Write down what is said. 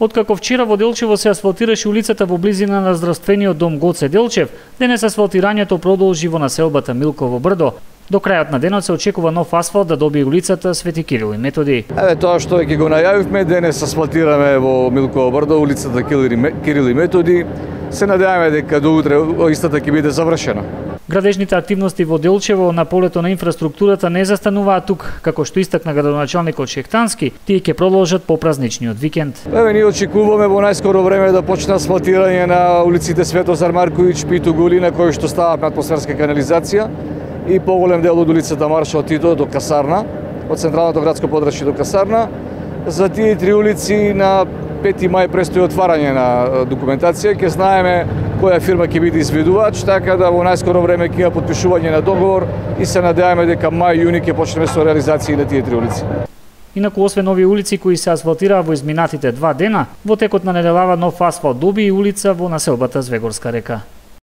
Откако вчера во Делчево се асфалтираше улицата во близина на здравствениот дом Гоце Делчев, денес асфалтирањето продолжи во населбата Милково брдо. До крајот на денот се очекува нов асфалт да добие улицата Свети Кирил и Методи. Тоа што ќе го најавивме, денес асфалтираме во Милково брдо улицата Кирил и Методи. Се надеваме дека до утре истата ќе биде завршена. Градежните активности во Делчево на полето на инфраструктурата не застануваат тук, како што истакна градоначалникот Шехтански, тие ќе продолжат по празничниот викенд. Ние очекуваме во најскоро време да почне асфалтирање на улиците Светозар Марковиќ, Питу Гулина, кои што стават на атмосферска канализација и поголем дел од улицата Маршал Тито до Касарна, од централното градско подрачје до Касарна. За тие три улици на 5 мај престои отварање на документација, ќе знаеме која фирма ќе биде изведувач, така да во најскоро време ќе има потпишување на договор и се надеваме дека мај-јуни ќе почнеме со реализација на тие три улици. Инаку, освен овие улици кои се асфалтираа во изминатите 2 дена, во текот на неделава нов асфалт доби и улица во населбата Звегорска река.